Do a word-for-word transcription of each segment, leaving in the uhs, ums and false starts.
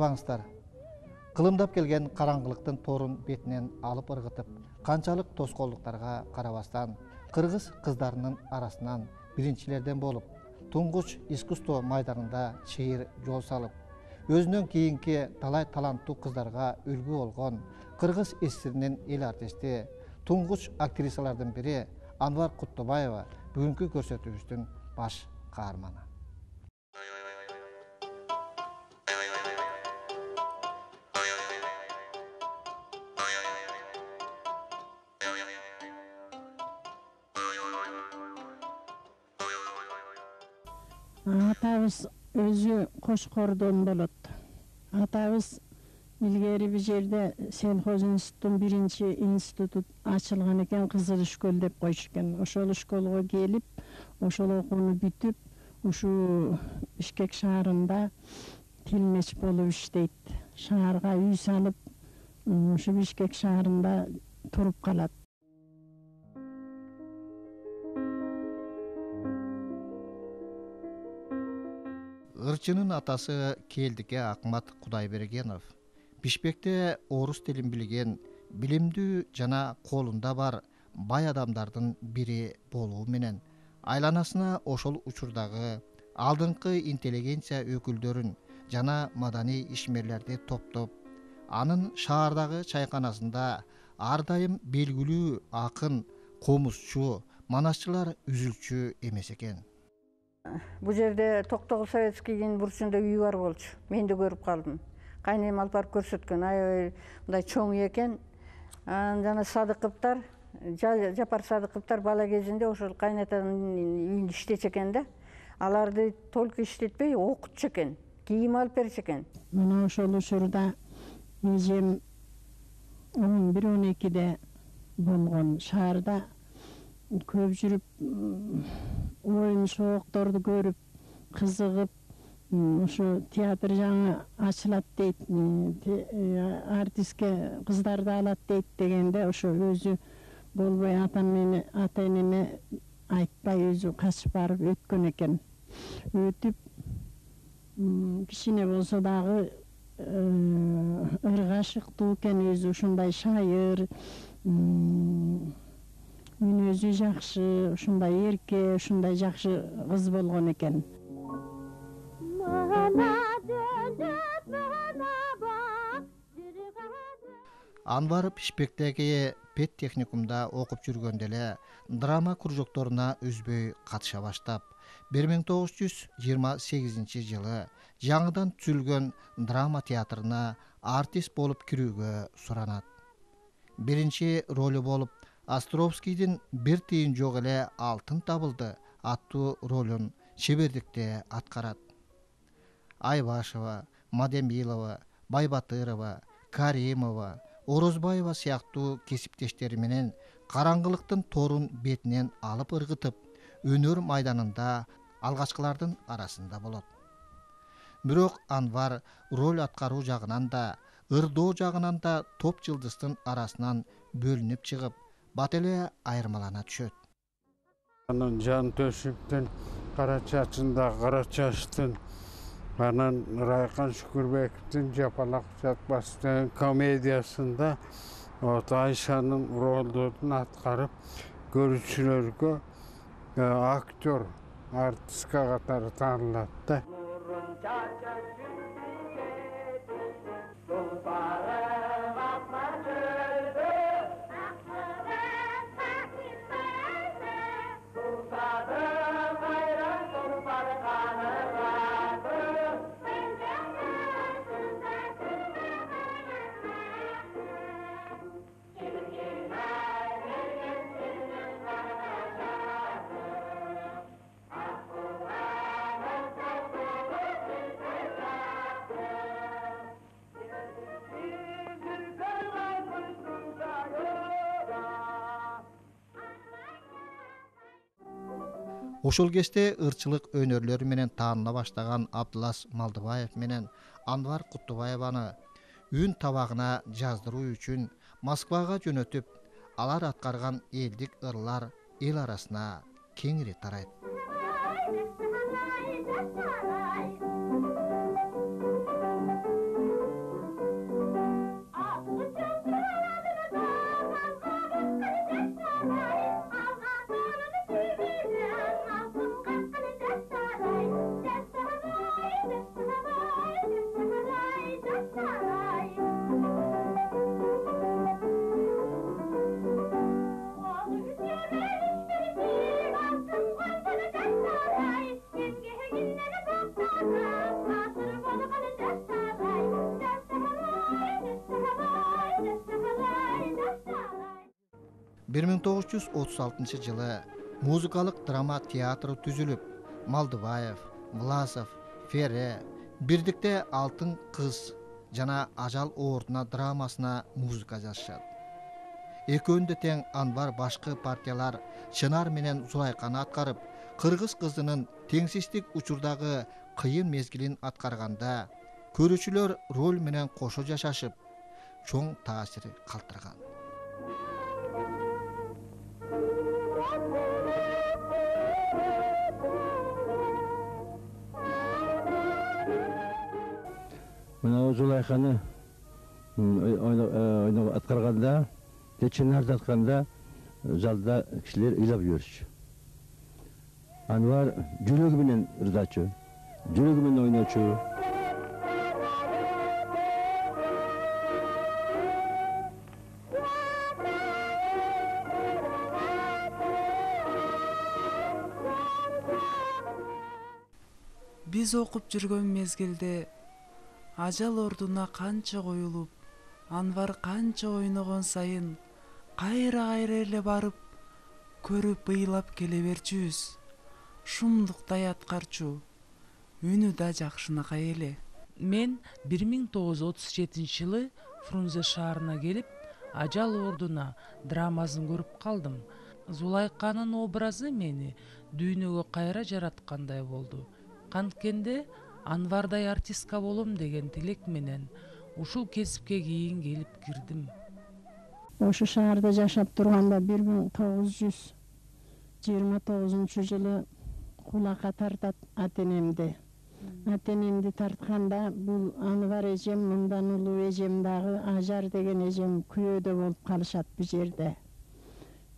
карабаңыздар. Кылымдап келген караңгылыктын торун бетинен алып ыргытып, канчалык тоскоолдуктарга карабастан, кыргыз кыздарынын арасынан биринчилерден болуп, туңгуч искусство майданында чыйыр жол салып, өзүнөн кийинки талай таланттуу кыздарга үлгү болгон Кыргыз эсиринин эл артисти, туңгуч актрисалардын бири Анвар Куттубаева бүгүнкү көрсөтүүбүздүн баш каарманы. Атабыз өзү Кошкордон болот. Атабыз илгери бир жерде сельхоз институттун биринчи институту ачылган экен, Кызыл школ деп койчу экен. Ошол школго келип, ошол окууну бүтүп, ушу Бишкек шаарында тилмеч болуп иштейт. Шаарга үй салып, ушу Бишкек шаарында туруп калат. Ырчынын атасы Келдике Акмат Кудайбергенов Бишкекте орус тилин билген, билимдүү жана колунда бар бай адамдардын бири болуу менен айланасына ошол учурдагы алдыңкы интеллигенция өкүлдөрүн жана маданий ишмерлерди топтоп, анын шаардагы чайканасында ар дайым белгилүү акын, комузчу, манасчылар үзүлчү эмес экен. Бул жерде Токтогул Советскийдин бурчунда үй бар болчу. Мен да көрүп калдым. Кайнем алып барып көрсөткөн. Аябай мындай чоң экен. Жана Садыковтар, Жапар Садыковтар бала кезинде ошол кайнатанын үйүндө иштечү экен да. Аларды только иштетпей окутчу экен, кийим алып берчү экен. Мына ошол учурда эжем он бир он экиде болгон, шаарда көп жүрүп, оюн шоокторду көрүп, кызыгып, ошо театр жаңы ачылат дейт, артистке кыздарды алат дейт дегенде, ошо өзү болбой ата энеме айтпай өзү качып барып өткөн экен. Өтүп, кичине болсо дагы ыргашыктуу экен, өзү ушундай шайыр, мүнөзү жакшы, ушундай эрке, ушундай жакшы кыз болгон экен. Анвар Бишкектеги педтехникумда окуп жүргөндө эле драма кружокторуна үзбөй катыша баштап, бир миң тогуз жүз жыйырма сегизинчи жылы жаңыдан түзүлгөн драма театрына артист болуп кирүүгө суранат. Биринчи ролу болуп Островскийдин «Бир тыйын жок эле алтын табылды» аттуу ролун чебердикте аткарат. Айбашева, Мадемилова, Байбатырова, Каримова, Орозбаева сыяктуу кесиптештери менен караңгылыктын торун бетинен алып ыргытып, өнөр майданында алгачкылардын арасында болот. Бирок Анвар роль аткаруу жагынан да, ырдоо жагынан да топ жылдыздын арасынан бөлүнүп чыгып, бат эле айырмалана түшөт. Анан Жан Төшүптүн Кара чачында кара чачтын, анан Райкан Шүкүрбековдун Жапалак жатпас деген комедиясында вот Айшанын ролдорун аткарып, көрүүчүлөргө актер, артистка катары таанылат да. Ошол кезде ырчылык өнөрлөрү менен тааныла баштаган Абдылас Малдыбаев менен Анвар Куттубаеваны үн табагына жаздыруу үчүн Москвага жөнөтүп, алар аткарган элдик ырлар эл арасына кеңири тарайт. бир миң тогуз жүз отуз алтынчы жылы музыкалык драма театры түзүлүп, Малдыбаев, Власов, Фере бирдикте Алтын кыз жана Ажал оордуна драмасына музыка жазышат. Экөөндө тең Анвар башкы партиялар Чынар менен Зулайканы аткарып, кыргыз кызынын теңсиздик учурдагы кыйын мезгилин аткарганда көрүүчүлөр роль менен кошо жашашып, чоң таасир калтырган. Мына Зулайканы ойноп аткарганда, Чынарды атканда залда кишилер ыйлап жүрчү. Анвар жүрөгү менен ырдачу, жүрөгү менен ойночу. Биз окуп жүргөн мезгилде ажал ордуна канча коюлуп, Анвар канча ойногон сайын кайра-кайра эле барып көрүп ыйлап келе берчүбүз. Шумдуктай аткарчу, үнү да жакшынакай эле. Мен бир миң тогуз жүз отуз жетинчи жылы Фрунзе шаарына келип, Ажал ордуна драмасын көрүп калдым. Зулайканын образы мени дүйнөгө кайра жараткандай болду. Канткенде Анвардай артистка болом деген тилек менен ушул кесипке кийин келип кирдим. Ошу шаарда жашап турганда бир миң тогуз жүз жыйырма тогузунчу жылы кулакка тартат ата-энемди. Ата-энемди тартканда бул Анвар эжем, мындан улуу эжем дагы Ажар деген эжем күйөөдө болуп калышат бу жерде.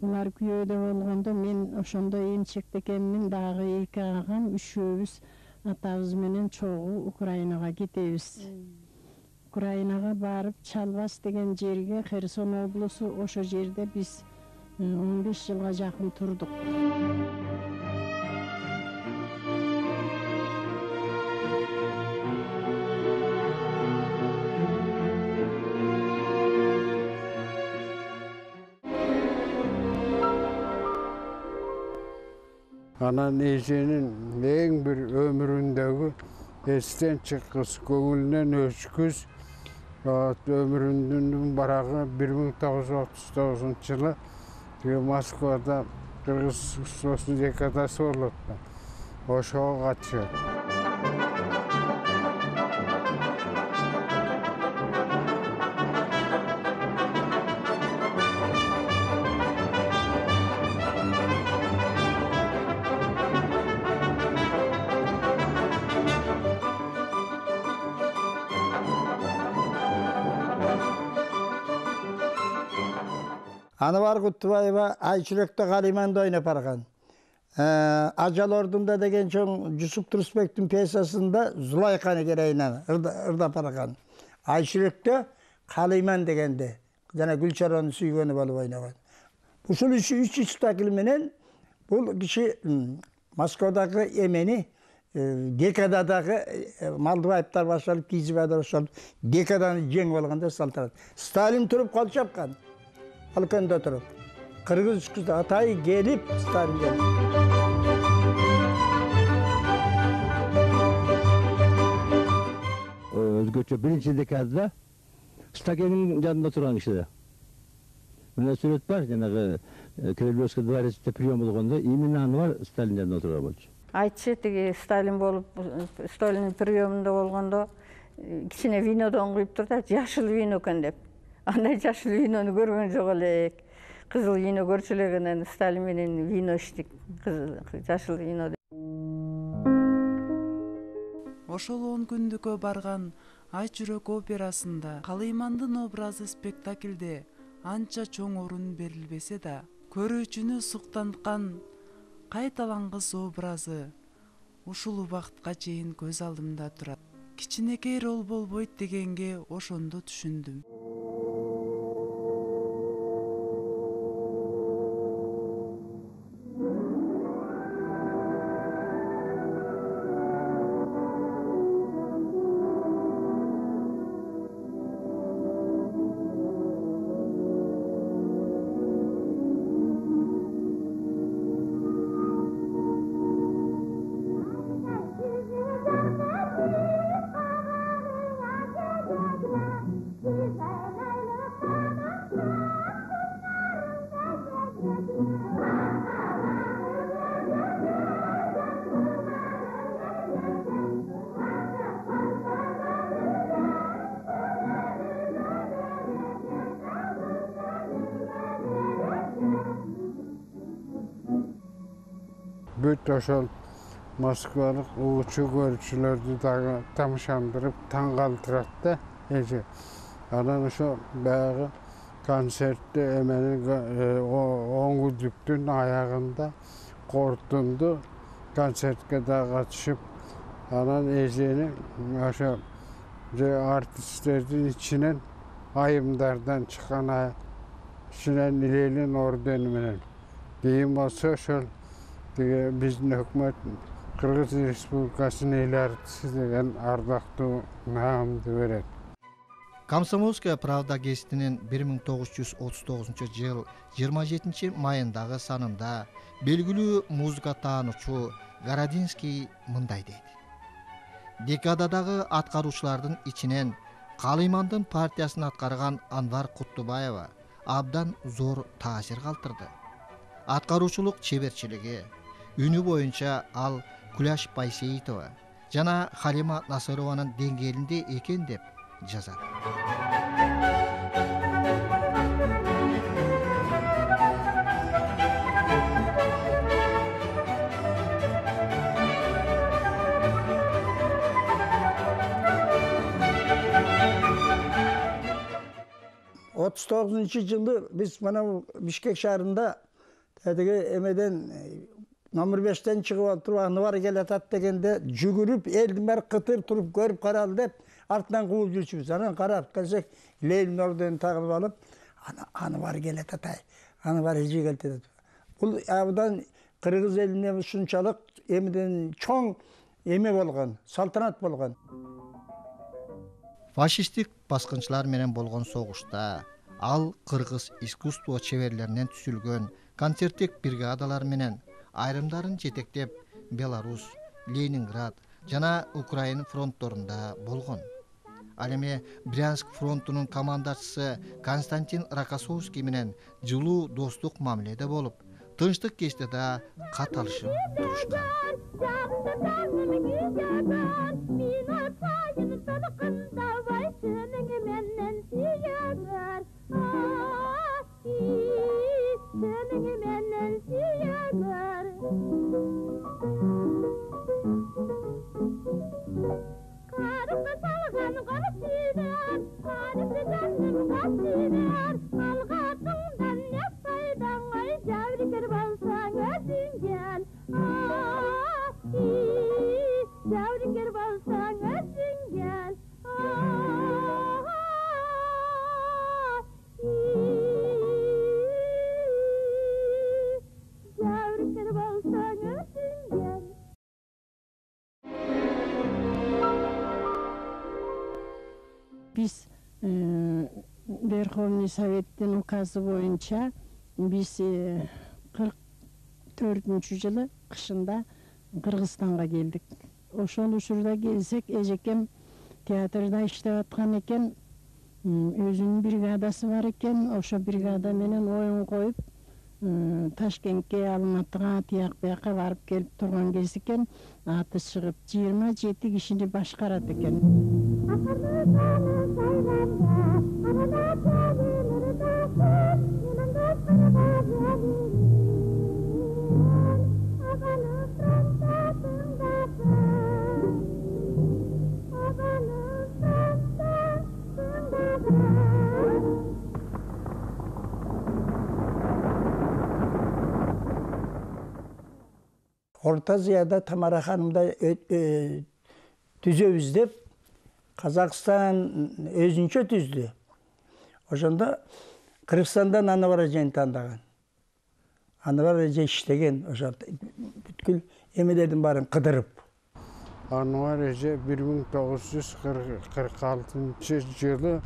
Булар күйөөдө болгондо мен ошондо эмчекте экенмин, дагы эки агам, үчөөбүз атабыз менен чогуу Украинага кетебиз. Украинага барып Чалбас деген жерге, Херсон облусу, ошо жерде биз он беш жылга жакын турдук. Анан эженин эң бир өмүрүндөгү эстен чыккыс, көңүлүнөн өчкүс өмүрүнүн барагы бир миң тогуз жүз отуз тогузунчу жылы Москвада кыргыз соцдекадасы болот да. Ошого катышат. Анвар Кутубаева Айчүрөктө Калиманды ойноп барган. Ажал ордунда деген чоң Жусуп Турсбектин пьесасында Зулайканы керейинен ырдап барган. Айчүрөктө Калиман дегенде жана Гүлчаронун сүйгөнү болуп ойногон. Ушул үч спектакль менен бул киши Москвадагы эмени декададагы Малдыбаевтар башталып, Кийизбаевтар башталып, декаданы жеңип алганда салтанат. Сталин туруп кол чапкан. Алканда туруп. Кыргыз кызы атай келип Сталин келип. Өзгөчө биринчи декадада Стакенин жанында турган киши. Мына сүрөт бар, жанагы Кремлевский дворецте прием болгондо именно Анвар Сталин жанында турган болчу. Айтчы тиги Сталин болуп, Сталиндин приемунда болгондо кичине винодон куюп турду, жашыл вино экен деп. Андай жашыл винону көргөн жок элек. Кызыл вино көрчү элек, Сталин менен вино иштик. Жашыл вино. Ошол он күндүккө барган Айчүрөк операсында Калыймандын образы спектаклде анча чоң орун берилбесе да, көрүүчүнү суктанткан кайталангыс образы ушул убакытка чейин көз алдымда турат. Кичинекей рол болбойт дегенге ошондо түшүндүм. бүт ошол Москвалык угуучу көрүүчүлөрдү дагы тамашандырып таң калтырат да эже. Анан ошо баягы концертти эменин он күндүктүн аягында корутунду концертке да катышып, анан эжени ошо артисттердин ичинен айымдардан чыккан ичинен Ленин ордени менен, кийин болсо ошол тиги биздин өкмөт Кыргыз Республикасынын эл артисти деген ардактуу наамды берет. Комсомольская правда гезитинин бир миң тогуз жүз отуз тогузунчу жыл жыйырма жетинчи майындагы санында белгилүү музыка таануучу Городинский мындай дейт: декададагы аткаруучулардын ичинен Калыймандын партиясын аткарган Анвар Куттубаева абдан зор таасир калтырды. Аткаруучулук чеберчилиги, үнү боюнча ал Куляш Байсейитова жана Халима Насырованын деңгээлинде экен деп жазат. отуз тогузунчу жылы биз мына Бишкек шаарында тетиги эмеден номер бештен чыгып отуруп Анвар келатат дегенде жүгүрүп элдин баары кытыр туруп көрүп каралы деп артынан кууп жүрчүбүз. Анан карап келсек Ленин орденин тагып алып, Анвар келатат, ай, Анвар эже келатат. Бул абдан кыргыз элине ушунчалык эмеден чоң эме болгон, салтанат болгон. Фашисттик баскынчылар менен болгон согушта ал кыргыз искусство чеберлеринен түзүлгөн концерттик бригадалар менен айрымдарын жетектеп Беларусь, Ленинград жана Украина фронтторунда болгон. Ал эми Брянск фронтунун командачысы Константин Рокоссовский менен жылуу достук мамиледе болуп, тынчтык кезде да кат алышып турушкан. Биз Верховный Советтин указы боюнча биз кырк төртүнчү жылы кышында Кыргызстанга келдик. Ошол учурда келсек, эжекем театрда иштеп аткан экен, өзүнүн бригадасы бар экен. Ошо бригада менен оюн коюп Ташкентке, Алматыга, тияк бияка барып келип турган кез экен. Аты чыгып жыйырма жети кишини башкарат экен. Орта Азияда Тамара ханымда түзөбүз деп Казакстан өзүнчө түздү. Ошондо Кыргызстандан Анвар эжени тандаган. Анвар эже иштеген, ошо бүткүл эмелердин баарын кыдырып. Анвар эже бир миң тогуз жүз кырк алтынчы жылы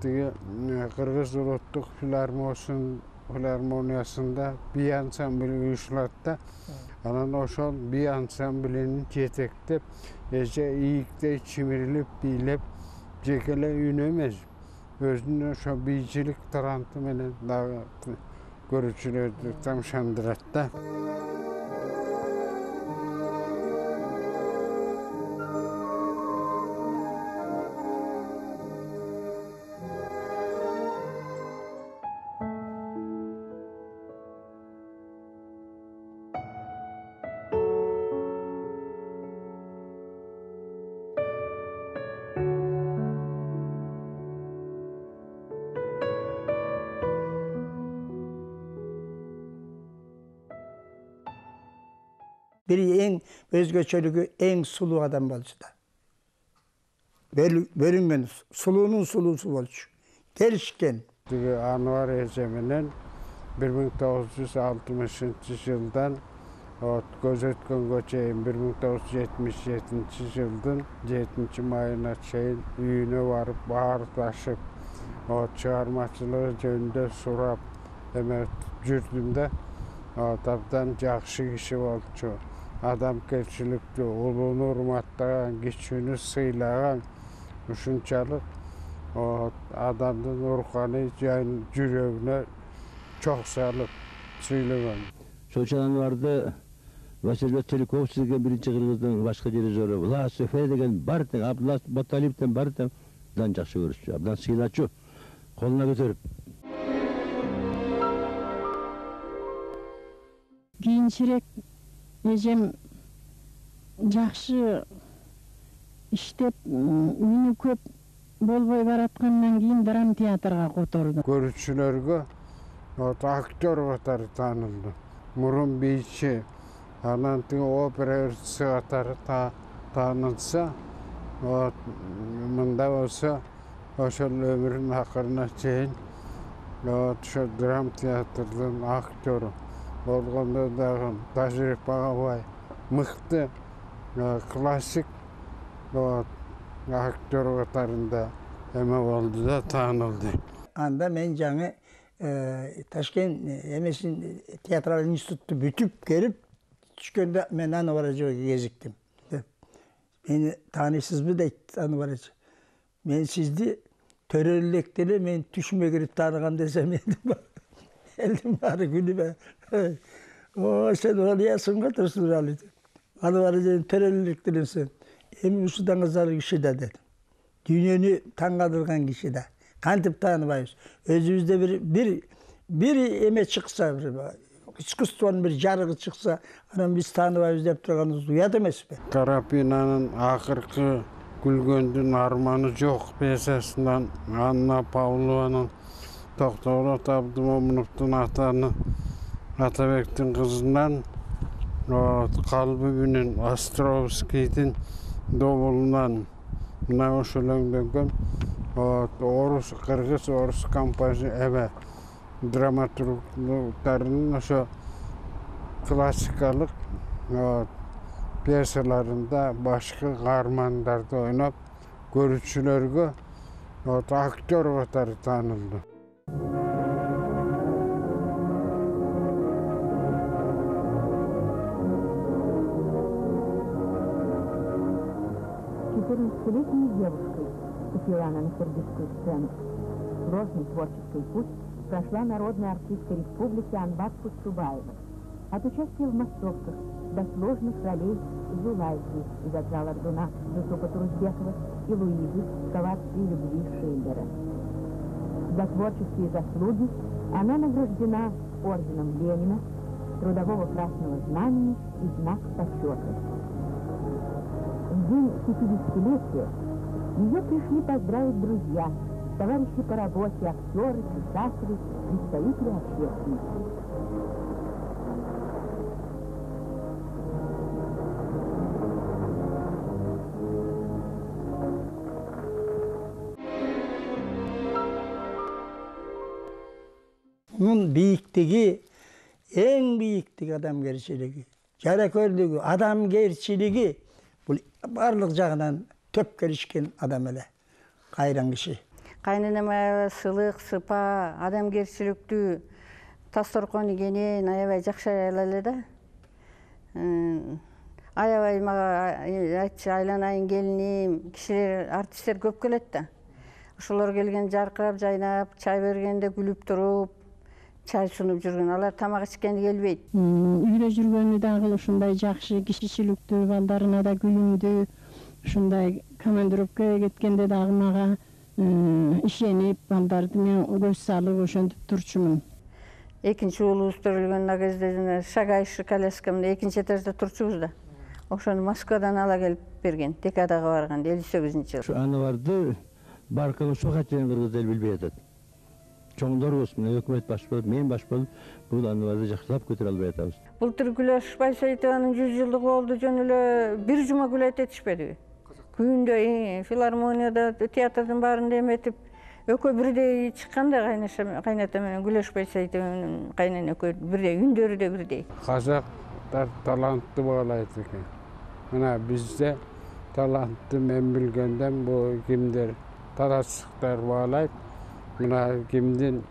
тиги Кыргыз улуттук филармониясында бий ансамбль уюшулат да. Анан ошол бий ансамблинин жетектеп, эже ийиктей чимирилип бийлеп, жеке эле үн эмес, өзүнүн ошо бийчилик таланты менен дагы көрүүчүлөрдү тамашандырат да. бир эң өзгөчөлүгү эң сулуу адам болчу да. Бөлүнгөн сулуунун сулуусу болчу. Келишкен. Тиги Анвар эже менен бир миң тогуз жүз алтымышынчы жылдан көз өткөнгө чейин бир миң тогуз жүз жетимиш жетинчи жылдын жетинчи майына чейин үйүнө барып баардашып, чыгармачылыгы жөнүндө сурап эме жүрдүм да. Абдан жакшы киши болчу. Адамгерчиликтүү, улууну урматтаган, кичүүнү сыйлаган, ушунчалык адамдын руханий жүрөгүнө чоң салып сүйлөгөн. Ошол Анварды Василий Теликович деген биринчи кыргыздын башкы дирижеру, Влас Эфе деген бар тең, Абдулла Баталиевден бар тең, абдан жакшы көрүшчү, абдан сыйлачу, колуна көтөрүп. Кийинчерээк эжем жакшы иштеп, үнү көп болбой бараткандан кийин драма театрга которду. Көрүүчүлөргө актер катары таанылды. Мурун бийчи, анан тиги опера ырчысы катары таанылса, мында болсо ошол өмүрүнүн акырына чейин ошо драма театрдын актеру болгондо дагы тажрыйбага бай, мыкты классик актер катарында эме болду да, таанылды. Анда мен жаңы Ташкент эмесин театралдык институтту бүтүп келип түшкөндө мен Анвар эжеге кезиктим. Мени тааныйсызбы дейт Анвар эже. Мен сизди төрөлүктө эле мен түшүмө кирип тааныган десем элдин баары күлүп О, сен олиясың го Турсунали. Анвар эже төрөлүктө элесиң. Эми ушудан кызар киши да деди. Дүйнөнү таң калтырган киши да. Кантип тааныбайбыз? Өзүбүздө бир бир бир эме чыкса, бир искусствонун бир жарыгы чыкса, анан биз тааныбайбыз деп турганыбыз уят эмеспи? Карапинанын акыркы күлгөндүн арманы жок пьесасынан Анна Павлованын Токтогулот Абдымомуновдун атаны Атабектин кызынан Калбы менен Островскийдин добулунан мына ошол өңдөнгөн орус, кыргыз, орус композитор эме драматургтарынын ошо классикалык пьесаларында башкы каармандарды ойноп, көрүүчүлөргө актер катары таанылды. четырнадцатилетней девушкой вступила она на кыргызскую сцену. Сложный творческий путь прошла народная артистка республики Анбат Кутсубаева. От участия в массовках до сложных ролей Зулайки из «Отца Лардуна» Жусупа Турузбекова и Луизы в «Коварстве любви» Шиллера. За творческие заслуги она награждена орденом Ленина, Трудового Красного Знамени и знак почета. В день пятидесятилетия ее пришли поздравить друзья, товарищи по работе, актеры, писатели, представители общественности. Bunun biyikliği, en biyiklik adamgerçiliği, жаракөрлүгү, адамгерчилиги бул барлык жагынан төп келишкен адам эле, кайран киши. Кайненем аябай сылык, сыпа, адамгерчиликтүү, Тасторкон игенен аябай жакшы аял эле да. Аябай мага айтчы, айланайын келиним, кишилер, артисттер көп келет да. Ошолор келген жаркырап, жайнап, чай бергенде күлүп туруп, чай сунуп жүргөн. Алар тамак ичкени келбейт. Үйдө жүргөнү дагы ушундай жакшы, кишичиликтүү, балдарына да күйүндү. Ушундай командировкага кеткенде дагы мага ишенип, балдарды мен көз салып ошентип турчумун. Экинчи уулубуз төрөлгөн кезде шагающий коляскамда экинчи этажда турчубуз да. Ошону Москвадан ала келип берген, декадага барганда элүү сегизинчи жылы. Аны барды баркын ушуга чейин кыргыз эл билбей атат. чоңдорубуз, мына өкмөт баш болуп, мен баш болуп, бул Анварды жакшылап көтөрө албай атабыз. Былтыр Гүлөш Байсаитованын жүз жылдыгы болду, жөн эле бир жума гүл этишпедиби? Күйүндө филармонияда, театрдын баарында эметип, экөө бирдей чыкканда кайната менен Гүлөш Байсаитованын кайнана экөө бирдей, үндөрү да бирдей. Казактар талантты баалайт экен. Мына бизде талантты мен билгенден бу кимдер таратчылыктар баалайт. Мына кимдин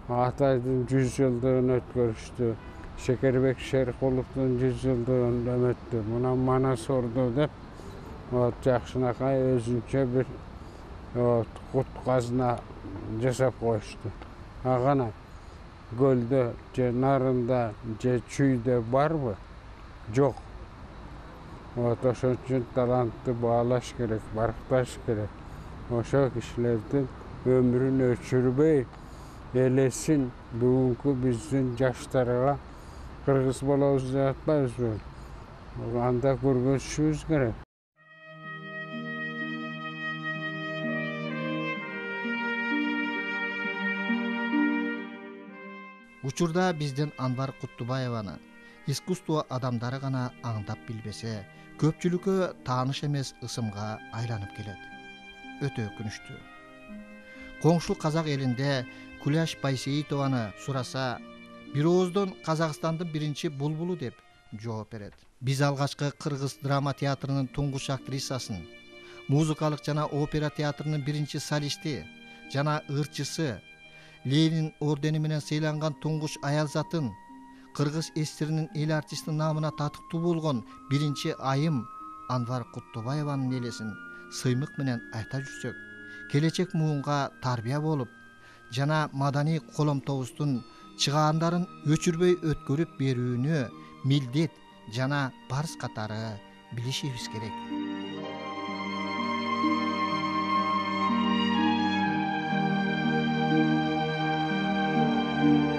Атайдын жүз жылдыгын өткөрүштү. Шекербек Шеркуловдун жүз жылдыгын өмөттү. Мына Манас орду деп жакшынакай өзүнчө бир кут казына жасап коюшту. Агана көлдө же нарында же чүйдө барбы? Жок. Вот ошон үчүн талантты баалаш керек, баркташ керек. Ошо кишилердин өмүрүн өчүрбөй, элесин бүгүнкү биздин жаштарга кыргыз болобуз деп атпайбызбы? Анда көргөзүшүбүз керек. Учурда биздин Анвар Куттубаеваны искусство адамдары гана аңдап билбесе, көпчүлүккө тааныш эмес ысымга айланып келет. Өтө өкүнүчтүү. Коңшу казак элинде Күләш Байсейитованы сураса, бир ооздон Казакстандын биринчи булбулу деп жооп берет. Биз алгачкы кыргыз драма театрынын туңгуч актрисасын, музыкалык жана опера театрынын биринчи солисти жана ырчысы, Ленин ордени менен сыйланган туңгуч аял затын, кыргыз эсиринин эл артисти наамына татыктуу болгон биринчи айым Анвар Куттубаеванын элесин сыймык менен айта жүрсөк, келечек муунга тарбия болуп жана маданий коломтобуздун чыгаандарын өчүрбөй өткөрүп берүүнү милдет жана парыз катары билишибиз керек. Thank you.